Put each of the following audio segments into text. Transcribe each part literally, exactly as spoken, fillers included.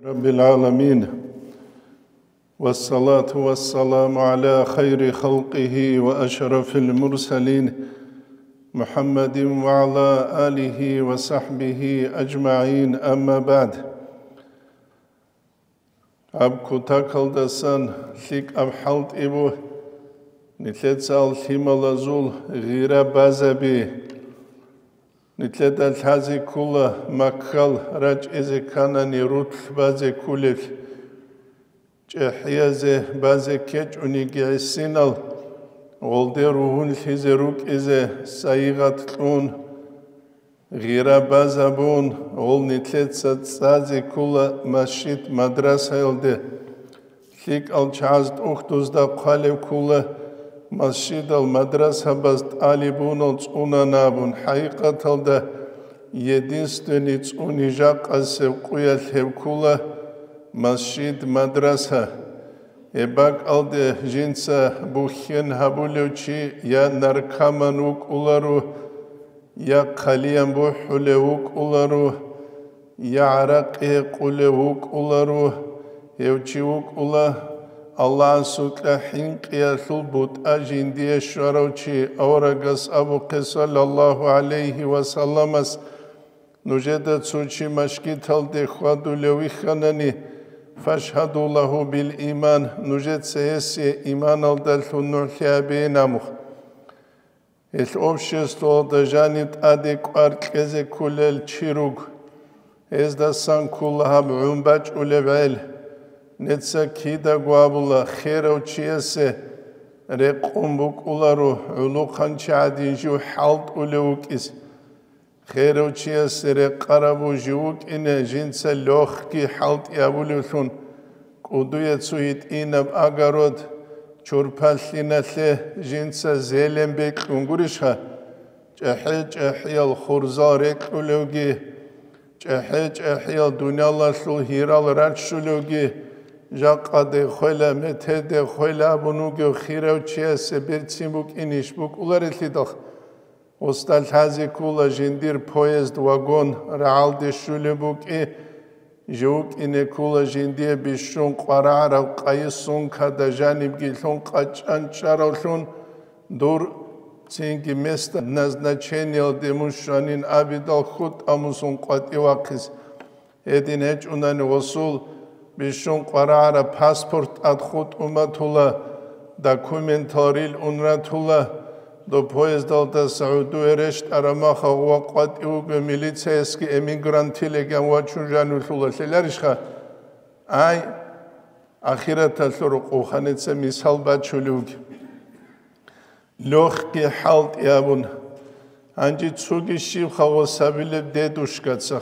رب العالمين، والصلاة والسلام على خير خلقه وأشرف المرسلين، محمد وعلى آله وصحبه أجمعين، أما بعد. Гьаб кутакалдасан лъикӀаб хӀалтӀи буго, нилъеца ал лъималазул гъира базаби. Нилъеда лъазе ккола Маккал рачӀизе кканани рутӀлъ базе кколелъ. ЧӀехӀиязе базе ккечӀониги гӀисинал, гъолде ругьунлъизе рукӀизе сайигъат кьун, гъира базабун, гъол нилъеца цӀазе ккола масжид-мадрасаялде. ЛъикӀал чагӀаз тӀухьдузда хъвалев ккола масжидал мадрасабаз тӀалибунал цӀунанабун, хӀакъикъаталда единственный цӀуни жакъасеб къуялъ гьеб ккола масжид-мадраса. Гьеб бакӀалде жинца бухьен гьабулев чи я наркоман вукӀуларо, я хъалиян бухӀулев вукӀуларо, я гӀаракъи гьекъулев вукӀуларо, гьев чи вукӀула Аллагьасукьа хӀинкъиялъул бутӀа жиндие щварав чи. Аварагас абухъе, саллаллагьу гӀалайгьи ва салламас, нужеда цо чи мажгиталде хьвадулев вихьанани, фашгьаду лагьу бил иман, нужеца гьесие иманалдалъун нугӀлъи гьабейин абухъ. Гьелъ обществоялда жаниб тӀаде кӀвар кьезе кколел чи руго. Гьездасан ккола гьаб гӀун бачӀулеб гӀел. Нижеца кидаго абула, херав чиясе рекъон букӀуларо гӀолохъанчи гӀадин жив хӀалтӀулев вукӀине. Херав чиясе рекъараб жив вукӀине жинца лёхги хӀалтӀи абулевлъун, кӀудуе цо гьитӀинаб огород чурпалъиналъе жинца зелень бекьун гурищха? ЧӀехӀе-чӀехӀиял хурзал рекьулевги, чӀехӀе-чӀехӀиял дуниялалъул гьирал раччулевги, жакъа дехвела, метер дехвела абун вугев хирав чиясе берцин букӀин иш букӀуларелъидал. Гъосда лъазе ккола жиндир поезд, вагон рагӀалде щулеб букӀи, жив вукӀине ккола жиндие бищун къварагӀараб къайи сумкада жанибги лъун къачӀан чӀаравлъун, дур цинги место назначениялде мун щванин абидал хутӀа мусун къватӀив вахъизе. Гьедин гьечӀунани гъосул бищун къварагӀараб паспорт тӀад хутӀун батула, документал рилъун ратула, доб поездалдаса гӀодове рещтӀараб махалъ ва къватӀив вуго милицейский эмигрантилиган вачун жанивлъулалъ лъеларищха? Ай, ахираталъул рокъов ханеца мисал бачулев вугеб. Лёхги хӀалтӀи абун, гьанже цоги щибха гъосабилеб дедушкаца.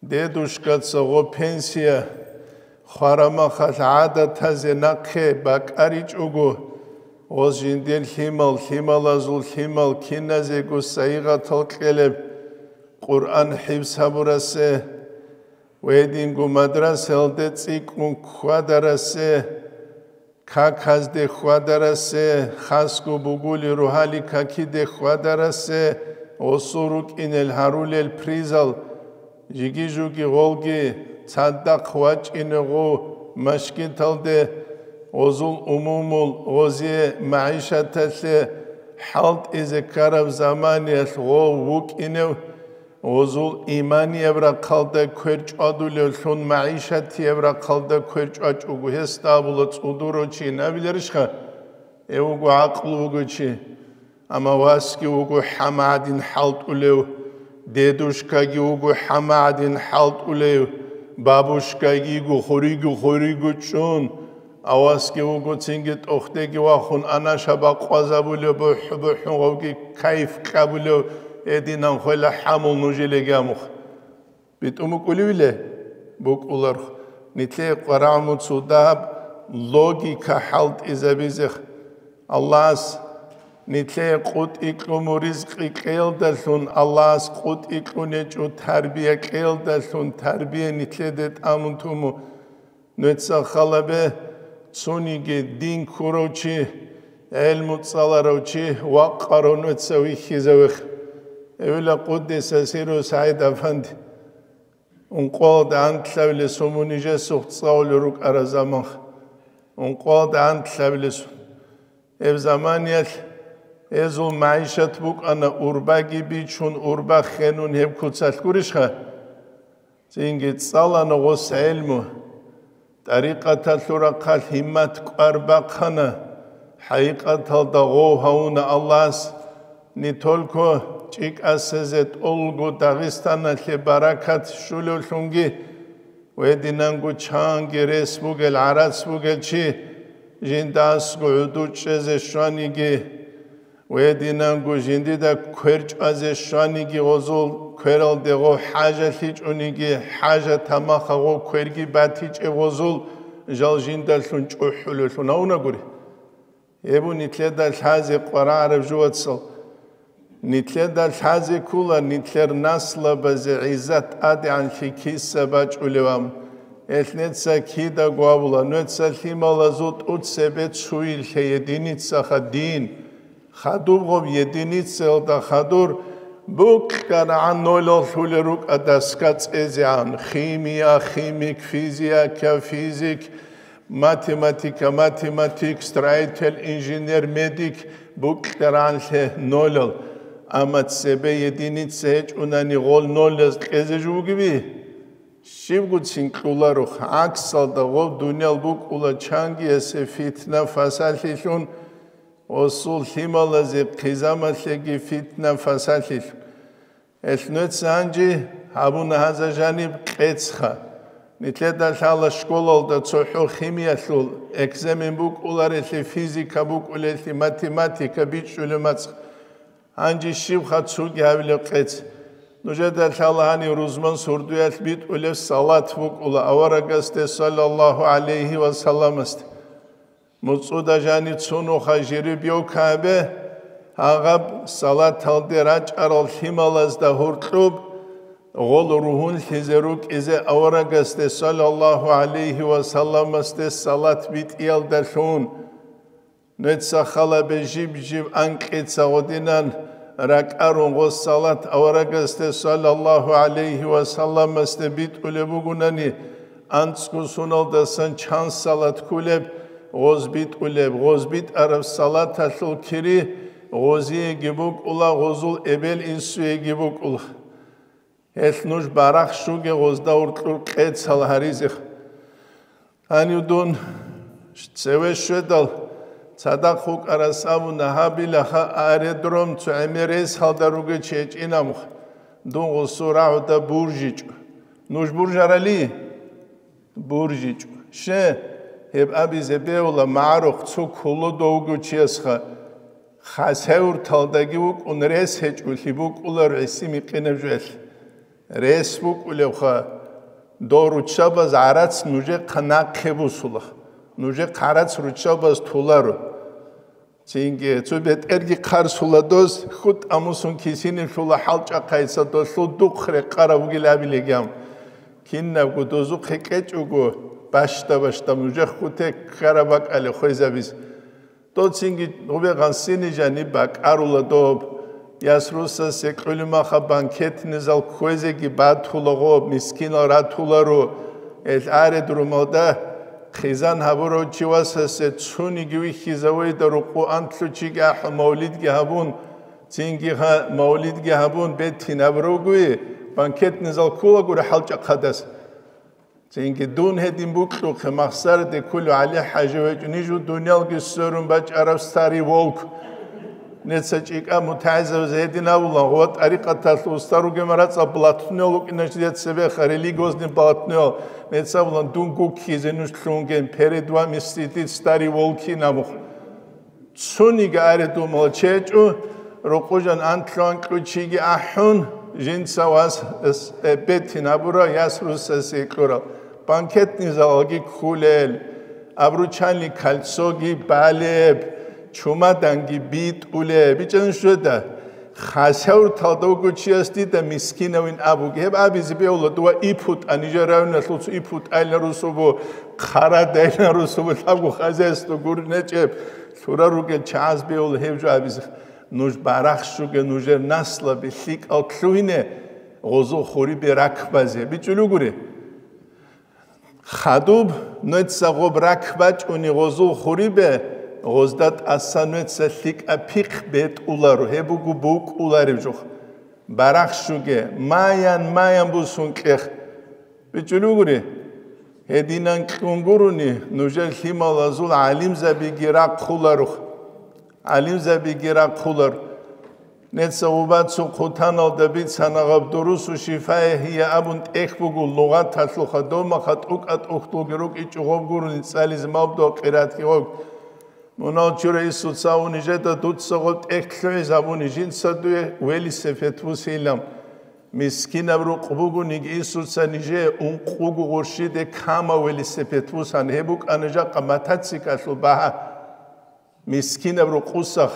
Дедушкаца гъо пенсия хварамахалъ гӀадатазе нахъе бакӀаричӀого, гъос жиндир лъимал, лъималазул лъимал киназего сайигъатал кьелеб, Къуръан хӀифз гьабурасе, гьединго мадрасаялде цӀикӀкӀун хьвадарасе, каказде хьвадарасе, хасго бугули ругьали какиде хьвадарасе, гъосул рукӀинел гьарулел призал, жиги-жуги гъолги цадахъ вачӀине гъов машгиталде, гъозул умумул гъозие магӀишаталъе хӀалтӀизе ккараб заманиялъ гъов вукӀинев, гъозул иманияб рахъалда квер чӀвадулевлъун, магӀишатияб рахъалда квер чӀвачӀого гьесда абула цӀудурав чи гьабиларищха? Гьев вуго гӀакълу вугев чи. Амма васги вуго хӀама гӀадин хӀалтӀулев, дедушкаги вуго хӀама гӀадин хӀалтӀулев, бабушкаги йиго хуриго-хуриго чӀун, авасги вуго цинги тӀохьдеги вахун анаша бакъвазабулев, бухӀ-бухӀун гъовги кайф кьабулев, гьединан хвела хӀамул нужелеги амухъ. БитӀун букӀулевиле? БукӀуларх. Нилъее къварагӀмуцул дагьаб логика хӀалтӀизабизех. Аллагьас нилъее къутӀи кьуму ризкъи кьеялдалъун, Аллагьас къутӀи кьунечӀо тарбия кьеялдалъун, тарбия нилъеде тӀамун туму. Нуца халабе цониги дин ккурав чи, гӀелму цӀаларав чи вакъарав нуца вихьизавех. Эвила къуддиса сиру СагӀид Афанди. Ункъоялда антлъабилесун мун нижесухъ цӀалулел рукӀарал заман. Ункъоялда антлъабилесун. Гьеб заманиялъ гьезул магӀишат букӀана урбаги бичун, урба хенун гьеб куцалъ гурищха? Цинги цӀалана гъос гӀелму. ТӀарикъаталъул рахъалъ гьиммат кӀвар бахъана. ХӀакъикъаталда гъов гьавуна Аллагьас, не только ЧӀикӀасазе тӀолго Дагъистаналъе баракат щулевлъунги, гьединанго чанги рес бугел, гӀарац бугел чи жиндасго гӀуду чӀезе щваниги, гьединанго жиндида квер чӀвазе щваниги гъозул, квералде гъов хӀажалъичӀониги, хӀажат гьамаха гъов кверги батичӀеб гъозул, жал жиндалъун чӀухӀулевлъун гьавунагури. Гьеб нилъеда лъазе къварагӀараб жо, вацал. Нилъеда лъазе ккола нилъер наслабазе гӀиззат тӀадегӀанлъи киса бачӀулеван. Гьелъ неца кидаго абула, неца лъималазул тӀуцебе цуйлъе единицаха дин. Хадуб гъоб единицаялда хадур букьарагӀан нолал лъулел рукӀа доска цӀезегӀан: химия, химик, физика, физик, математика, математик, строитель, инженер, медик, букьарагӀанлъе нолал. Амма цебе единица гьечӀунани гъол нолаз кьезе жо бугеби? Щибгоцин кьоларухъ, гӀаксалда гъоб дуниял букӀула чангиясе фитна-фасалъилъун, гъосул лъималазе хъизамалъеги фитна-фасалъилъун. Гьелъ нуца гьанже гьабуна гьаза жаниб кьецӀха. Нилъеда лъала школалда цохӀо химиялъул экзамен букӀуларелъи, физика букӀулелъи, математика бичӀчӀулеб мацӀ. Гьанже щибха цоги гьабилеб кьецӀ? Нужеда лъала гьанив рузман сордоялъ битӀулеб салат букӀула аварагасде, саллаллагьу гӀалайгьи ва салламасде. МуцӀуда жанив цунуха жеребьёвка гьабе, гьагъаб салаталде рачӀарал лъималазда гьоркьоб гъол ругьунлъизе рукӀизе аварагасде, саллаллагьу гӀалайгьи ва салламасде, салат битӀиялдалъун. Нуца халабе жиб-жиб анкьица гъодинан ракӀарун гъос салат аварагасде, саллаллагьу гӀалайгьи ва салламасде битӀулеб бугунани, анцӀго суналдасан чан салат кколеб, гъоз битӀулеб, гъоз битӀараб салаталъул кири гъозиеги букӀула, гъозул эбел-инсуеги букӀула. Гьелъ нуж барахщуге гъозда гьоркьор кьецӀал гьаризеха. Гьанив дун цеве щведал, цадахъ вукӀарас абуна, гьабилаха аэродром цо гӀемер рейсалда ругел чи гьечӀин абун. Дун гъосул рагӀуда буржичӀо. Нуж буржарали? БуржичӀо. Ще, гьеб абизе бегьула, магӀарухъ цо кколодо вуго чиясха, хасавюрталдаги вукӀун рес гьечӀолъи букӀулар гӀиси-микъинаб жоялъ. Рес букӀулебха, дов руччабаз гӀарац нужехъа нахъе бусула, нужехъа гӀарац руччабаз толаро. Цинги цо бетӀерги хъарсула доз, хутӀа мусун кисинилъула хӀалчӀахъайца долъул духъ рекъараб бугил абилегам. Кинабго дозухъе кьечӀого, бащда-бащда нужехъ хутӀе ккараб бакӀалде хвезабиз. Доцинги гъубе гъансини жаниб бакӀарула доб. Яс русасе кьулимаха банкетный зал кквезеги батула гъоб, мискинал ратуларо. Эл аредурумалда хъизан гьабурав чи васасе цуниги вихьизавайда рукъу антлъучиги ахӀун мавлидги гьабун, цинги гьа-, мавлидги гьабун бетин гьабуравгуи, банкетный зал ккулагури хӀалчӀахъадас. Цинги дун гьедин букьухъе, махсараде кколев ГӀали-хӀажи гьечӀо, нижу дуниялги сверун бачӀараб старый волк. Неца чӀикӀа мутагӀизабазе гьедин абулан, ва тӀарикъаталъул уста ругема рацӀа блатнел вукӀиначи цебеха, религиозный блатнел. Неца абулан, дун гуккизе нуж лъунген, перед вами сидит старый волкин абух. Цуниги аредумал чечӀу, рукъужан антлъуан кьучиги ахӀун, жинца вас, эс-, э, бетин гьабура, яс русасе кьурал. Банкетный залалги ккулел, обручальный кольцоги балеб, чумаданги битӀулеб. БичӀан щведа, хасаврталда вуго чияс дида мискинавин абуге. Гьеб абизе бегьула, дова ипу тӀа, нижер районалъул цо ипу тӀайилан русубу, хъара дайилан русубу, лъабго хозяйство гури нечӀеб. Лъурал ругел чагӀаз бегьула гьев жо абизе. Нуж барахщуге, нужер наслаби лъикӀал лъугьине, гъозул хурибе ракбазе. БичӀчӀулугури. Хадуб нуца гъоб ракбачӀуни гъозул хурибе, гъозда тӀаса нуца лъикӀаб пихъ бетӀуларо, гьеб буго букӀулареб жо. Барахщуге, маян-маян бусун кьех. БичӀчӀулугури. Гьединан кьун гурони, нужер лъималазул гӀалимзабиги рахъуларо. ГӀалимзабиги рахъулар. Нуца гъоб цо хъутаналда бицана гъаб дурусу шифая гьия абун тӀехь буго лугъаталъул хадуб, маха тӀукӀа-тӀухьдулги рукӀичӀо гъоб гурони цӀализе мабдугьал къиратги гъоб. Мунал чура Иисуца абуни жеда дуца гъоб тӀехь лъугӀизе абуни жинца дуе велосипед бусейилан. Мискинаб рукъ бугониги Иисуца нижее ункъого гъурщиде кама велосипед бусан, гьеб букӀана жакъа мотоциклалъул багьа. Мискинаб рукъусах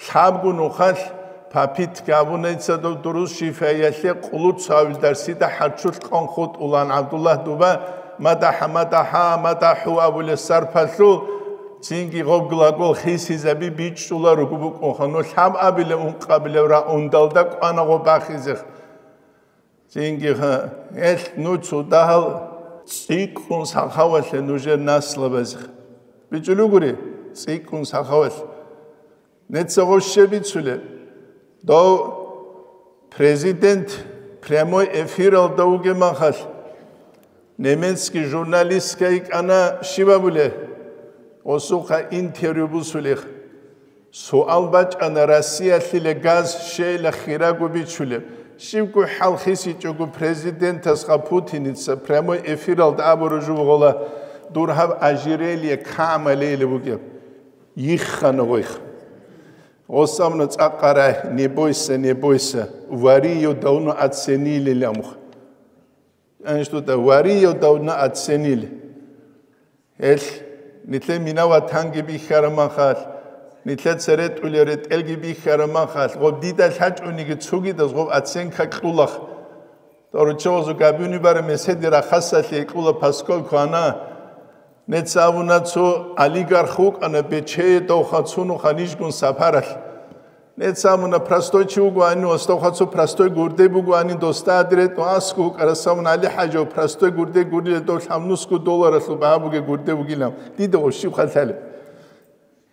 лъабго нухалъ папитка абуна дица дов дурус шифаялъе къулуцавил дарсида хӀарччулъ къон хутӀулан ГӀабдуллагь дуба, мадахӀа, мадахӀа, мадахӀу абулеб сарпалъул, цинги гъоб глагол хисизаби бичӀчӀуларуго букӀунха, ну лъабабилеб ункъабилеб раундалда кӀвана гъоб бахизе. Цинги гьа, гьелъ нуцу дагьал цӀикӀкӀун сахавалъе нужер наслабазе. БичӀчӀулугури, цӀикӀкӀун сахавалъ. Нуца гъоб щиб бицулеб? Дов президент прямой эфиралда вугеб махалъ, немецкий журналистка йикӀана, щиб абулеб? Гъосухъа интервью бусулеб. Суал бачӀана, Россиялъила газ щейила хирого бичулеб. Щибго хӀал хисичӀого президентасха Путиница прямой эфиралда абураб жо бугола, дур гьаб ожерелье кама лейилеб бугеб. Йиххана гъойх. Гъос абуна цӀакъ гьарай, не бойся, не бойся, вари её давно оценили ламух. Они что-то вари её давно оценили. Гьелъ, нилъер мина-ватанги бихьараб махалъ, нилъер цере тӀулел ретӀелги бихьараб махалъ, гъоб дида лъачӀониги цогидаз гъоб оценка кьулахъ. Доруччабазул габуни бараб меседи рахасалъе кьула, поскольку ана нуца абуна цо олигарх вукӀана бечее довха цунуха нижгун сапаралъ. Нуца абуна простой чи вугоани, ва стовха цо простой гурде бугоани, досда адретӀу аску вукӀарас абуна, ГӀали-хӀажав простой гурде гурила дов лъабнусго долларалъул багьа бугеб гурде бугилан. Дида гъов щиб халъалеб?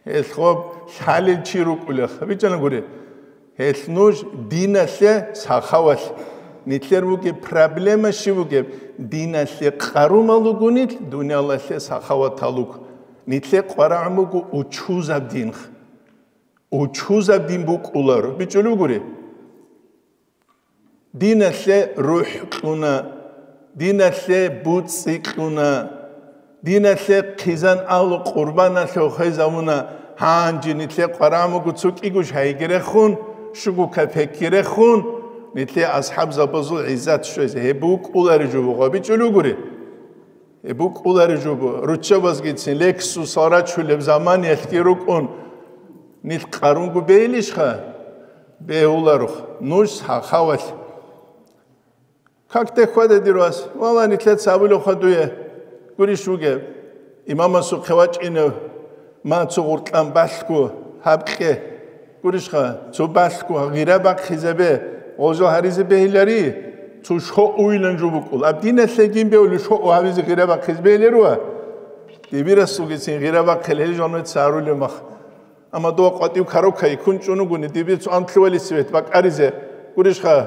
Гьелъ гъоб лъалел чи рукӀулех. БичӀчӀана гури. Гьелъ нуж диналъе сахавалъ. Нилъер бугеб проблема щиб бугеб? Диналъе къарумал ругонил, дуниялалъе сахаватал руг. Нилъе къварагӀун буго учузаб динх. Учузаб дин букӀуларо. БичӀчӀулев гури? Диналъе рухӀ кьуна, диналъе буцӀцӀи кьуна, диналъе хъизан алу къурбаналъе хвезавуна, гьанже нилъе къварагӀун буго цо кӀигош гьайги рехун, щуго капекги рехун, нилъе асхӀабзабазул гӀиззат щвезе. Гьеб букӀулари жо буго, бичӀчӀулев гури? Гьеб букӀулари жо буго, руччабазгицин Лексусал рачулеб заманиялъги рукӀун, нилъ къарунго бейилищха? Бегьуларухъ, нуж сахавалъ. Как те хьвада, дир вас? Валла, нилъеца абулев хадуе. Гурищ вугеб? Имамасухъе вачӀинев, ма цо гъуркьан балъго гьаб кье. Гурищха, цо балъго гъира бахъизабе, гъожал гьаризе бегьилари, цо шо уйилан жо букӀул. Аб диналъе гин бевли шо гьавизе гъира бахъизе бегьиларуа? Дибирасулгицин гъира бахъил гьел жо нуца гьарулев мах. Амма дова къватӀив карокай ккун чӀун вугони, дибир цо анлъували цевет бакӀаризе. Гурищха,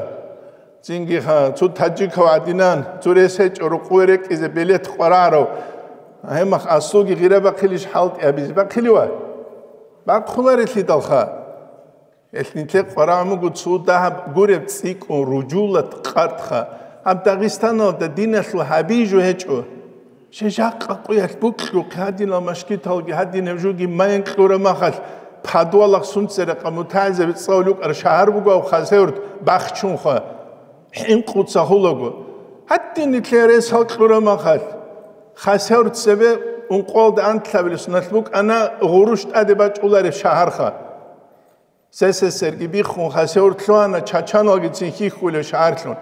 цинги ха, цо таджикав гӀадинан, цо рес гьечӀо рукъуве рекӀизе белет къварагӀарав. Гьеб мах аслуги гъира бахъилищ хӀалтӀи гьабизе бахъилива? Бахъуларелъидалха. Гьелъ нилъер къварагӀун буго цо дагьаб гуреб цӀикӀкӀун ружулат къартха. Гьаб Дагъистаналда диналъул гьаби жо гьечӀо. Щай жакъа къуялъ букьухъе гьадинал машгиталги гьадинаб жоги майин кьураб махалъ, подвалахъ сунцерахъа мутагӀилзаби цӀалулев вукӀараб шагьар буго гьав Хасавюрт бахчунха, хӀинкъуца гьулаго. Гьадин нилъер рес гьал кьураб махалъ, Хасавюрт цебе ункъоялда анлъабилеб соналъ букӀана гъурущ тӀаде бачӀулареб шагьарха. СССР-ги биххун Хасавюрт лъугьана, чачаналгицин хьихьулев шагьарлъун.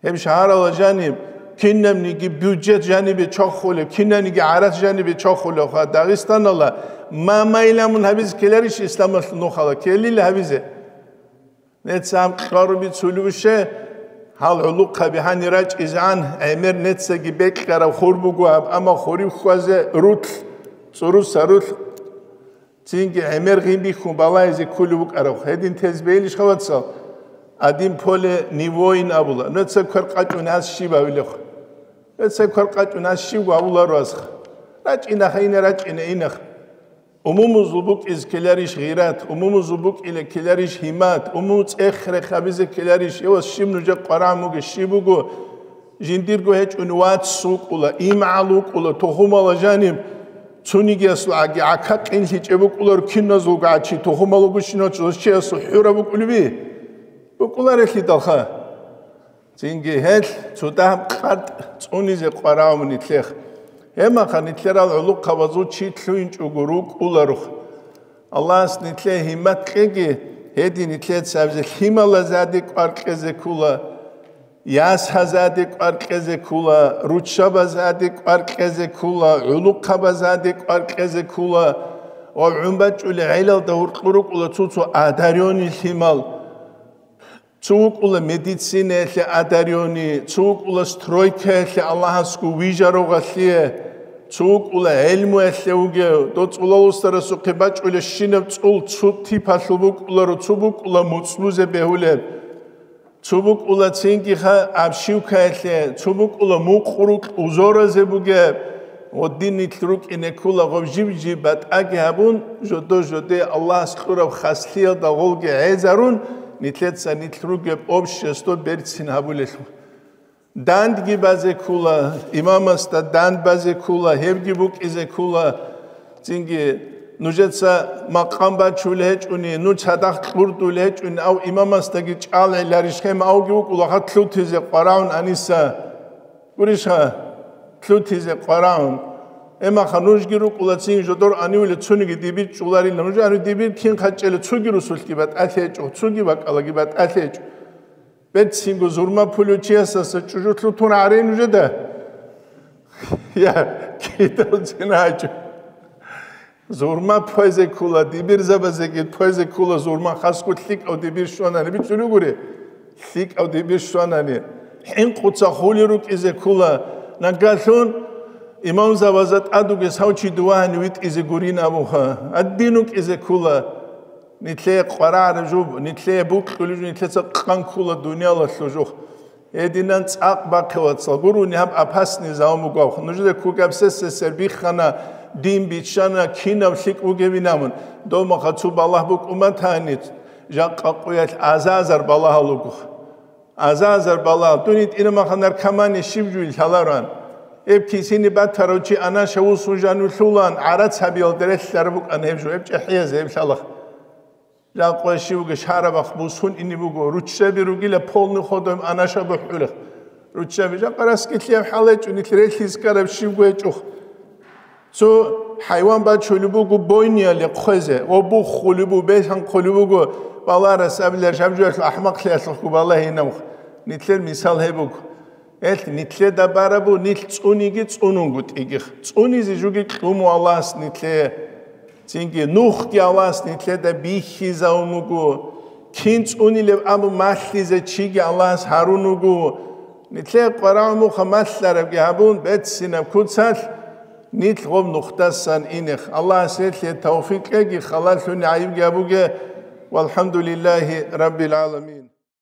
Гьеб шагьаралда жаниб кинабниги бюджет жанибе чохулев, кинабниги гӀарац жанибе чохулев ха Дагъистаналда, ма майламун гьабизе ккеларищ исламалъул нухалда? Ккелила гьабизе. Нецам кьаруби цулуше, Гьал гӀулухъаби гьанир рачӀизегӀан, гӀемер нецаги бекьараб хур буго гьаб, амма хурив хьвазе рулъ, цӀуруса рулъ, цинги гӀемер гъин бихьун балагьизе кколев вукӀарав. Гьедин тез бейилищха, вацал? Один в поле не воин абула. Нуца квер къачӀун гьас щиб гьавилехъ? Нуца квер къачӀун гьас щибго гьавуларо гьасха? РачӀинахъа ине, рачӀине инахъ. Умумузул букӀизе ккеларищ гъират, умумузул букӀине ккеларищ гьимат, умуму цӀех-рех гьабизе ккеларищ, эвас щиб нужер къварагӀун бугеб щиб буго? Жиндирго гьечӀони вац вукӀула, имгӀал вукӀула, тухумала жаниб цунигиясул гӀаги гӀака къинлъичӀеб букӀуларо, киназулго гӀачи тухумал вугощинал чиясул хӀураб букӀулеби? БукӀуларелъидалха. Цинги гьел цо дагьаб къартӀ цӀунизе къварагӀун нилъехъ. Гьебмаха нилъерал гӀулухъабазул чи лъугьинчӀого рукӀуларухъ. Аллагьас нилъее гьиммат кьеги, гьедин нилъеца гьабизе лъималазаде кӀвар кьезе ккула, ясазаде кӀвар кьезе ккула, руччабазаде кӀвар кьезе ккула, гӀулухъабазаде кӀвар кьезе ккула ва гӀун бачӀулел гӀелалда гьоркьор рукӀула цо-цо одарённый лъимал. Цо вукӀула медицинаялъе одарённый, цо вукӀула стройкаялъе Аллагьасго вижарогъалъе, цо вукӀула гӀелмуялъе вугев, дов цӀулалусарасухъе бачӀулебщинаб цӀул цо типалъул букӀуларо, цо букӀула муцӀлузе бегьулеб, цо букӀула цингиха обшивкаялъе, цо букӀула мукъурукь узоразе бугеб. Гъодин нилъ рукӀине ккула гъоб жиб-жиб батӀаги гьабун, жодо-жодое Аллагьас кьураб хаслъиялда гъолги гӀезарун, нилъеца нилъ ругеб общество берцин гьабулелъул. Дандги базе ккула, имамасда данд базе ккула, гьебги букӀизе ккула. Цинги нужеца макъам бачулел гьечӀони, нуж цадахъ кьурдулел гьечӀони, ав имамасдаги чӀалгӀиларищ, гьеб авги вукӀула хъат лъутизе къварагӀун аниса. Гурищха, лъутизе къварагӀун. Эмаха нужги рукӀула цин жодор анивли цуниги дибир чӀуларила. Нуж ани дибир кин хъачӀела, цуги русулъги батӀалъи гьечӀо, цуги бакӀалаги батӀалъи гьечӀо. Берцинго зурма пулев чиясаса чӀужу лъутун гьарей нужеда? Я, кидал цин гьачӀо. Зурма пойзе ккула, дибирзабазеги пойзе ккула зурма, хасго лъикӀав дибир щванани, бичӀчӀулев гури, лъикӀав дибир щванани, хӀинкъуца хули рукӀизе ккула, нагалъун имамзабазда тӀадуги сав чи дувагьани витӀизе гурин абуха, гьадин вукӀизе ккула. Нилъее къварагӀараб жо, нилъее букьулеб жо, нилъеца къан ккула дуниялалъул жо. Гьединан цӀакъ бахъе, вацал, гурони гьаб опасный зал буго. Нужеда ккугаб сесесер биххана, дин биччана, кинаб лъикӀ бугебин абун. Дов махъа цо балагь букӀун батани, жакъа къуялъ азазар балагьал руго. Азазар балагьал. Дун гьитӀина махъа наркомания щиб жуй лъаларан. Гьеб кисини батарав чи анаша вусун жанив лъулан, гӀарац гьабиялда релълъараб букӀана гьеб жо, гьеб чӀехӀиязе гьеб лъалахъ. Жакъа щивго шарабахъ бусун ине буго, руччаби ругила полный ходом анаша бухӀулехъ. Руччаби жакъа раскилъияб хӀал гьечӀо, нилъ релъиз ккараб щивго гьечӀо. Цо хӀайван бачулеб буго бойнияле хъвезе, ва буххулеб буго, беханхъулеб буго, баларас абилар жаб-жуялъул ахӀмахълъиялъухъго балагьинавх. Нилъер мисал гьеб буго. Гьелъ нилъеда барабу, нилъ цӀуниги цӀунунгутӀигих. ЦӀунизе жуги кьуму Аллагьас нилъее. Цинги нухги Аллагьас нилъеда бихьизавун буго. Кин цӀунилеб абун малъизе чиги Аллагьас гьарун вуго. Нилъее къварагӀумуха малъарабги гьабун, беццинаб куцалъ нилъ гъоб нухдасан инех. Аллагьас гьелъие тавфикъ кьеги, халалъуни гӀайибги гьабуге. Валхамдулиллагьи раббил гӀаламин.